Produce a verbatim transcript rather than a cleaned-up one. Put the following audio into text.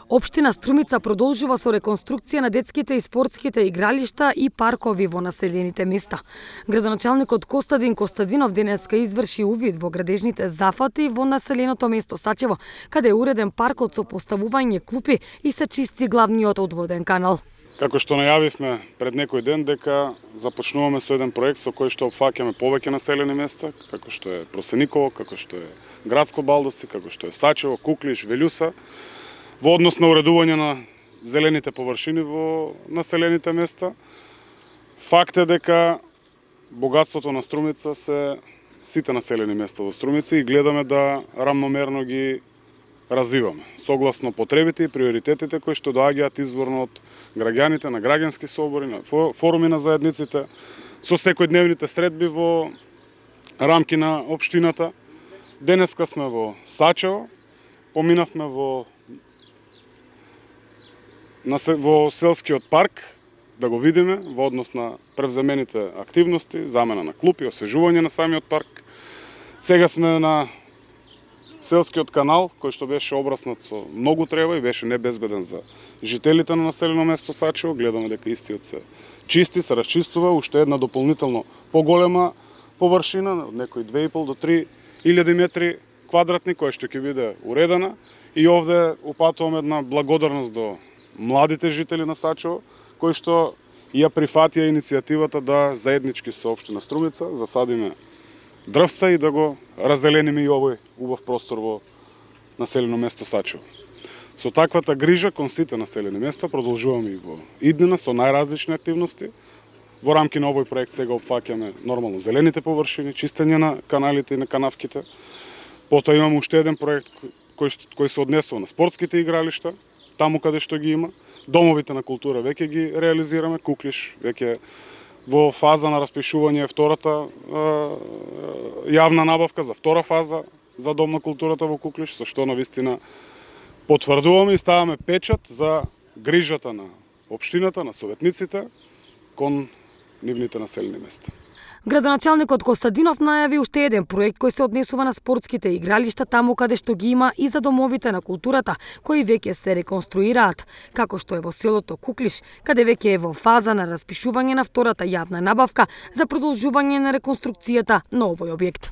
Општина Струмица продолжува со реконструкција на детските и спортските игралишта и паркови во населените места. Градоначалникот Костадин Костадинов денеска изврши увид во градежните зафати во населеното место Сачево, каде е уреден паркот со поставување клупи и се чисти главниот одводен канал. Како што најавивме пред некој ден дека започнуваме со еден проект со кој што опфаќаме повеќе населени места, како што е Просениково, како што е Градско Балдовци, како што е Сачево, Куклиш, Велјуса, во однос на уредување на зелените површини во населените места. Факт е дека богатството на Струмица се сите населени места во Струмица и гледаме да рамномерно ги развиваме, согласно потребите и приоритетите кои што доаѓаат изворно од граѓаните, на граѓански собори, на форуми на заедниците, со секојдневните средби во рамки на општината. Денеска сме во Сачево, поминавме во во селскиот парк да го видиме во однос на превземените активности, замена на клупи, освежување на самиот парк. Сега сме на селскиот канал, кој што беше обраснат со многу трева и беше небезбеден за жителите на населено место Сачево. Гледаме дека истиот се чисти, се расчистува, уште една дополнително поголема површина, од некои две и пол до три илјади метри квадратни, која што ќе биде уредена. И овде упатуваме една благодарност до младите жители на Сачево, кои што ја прифатија иницијативата да заеднички со општина Струмица засадиме дрвца и да го раззелениме и овој убав простор во населено место Сачево. Со таквата грижа кон сите населени места продолжуваме и во иднина со најразлични активности. Во рамки на овој проект сега опфаќаме нормално зелените површини, чистење на каналите и на канавките. Потоа имаме уште еден проект кој, кој се однесува на спортските игралишта, таму каде што ги има. Домовите на култура веќе ги реализираме, Куклиш веќе во фаза на распишување е втората е, јавна набавка за втора фаза за Дом на културата во Куклиш, со што навистина потврдуваме и ставаме печат за грижата на општината, на советниците кон нивните населени места. Градоначалникот Костадинов најави уште еден проект кој се однесува на спортските игралишта таму каде што ги има и за домовите на културата, кои веќе се реконструираат, како што е во селото Куклиш, каде веќе е во фаза на распишување на втората јавна набавка за продолжување на реконструкцијата на овој објект.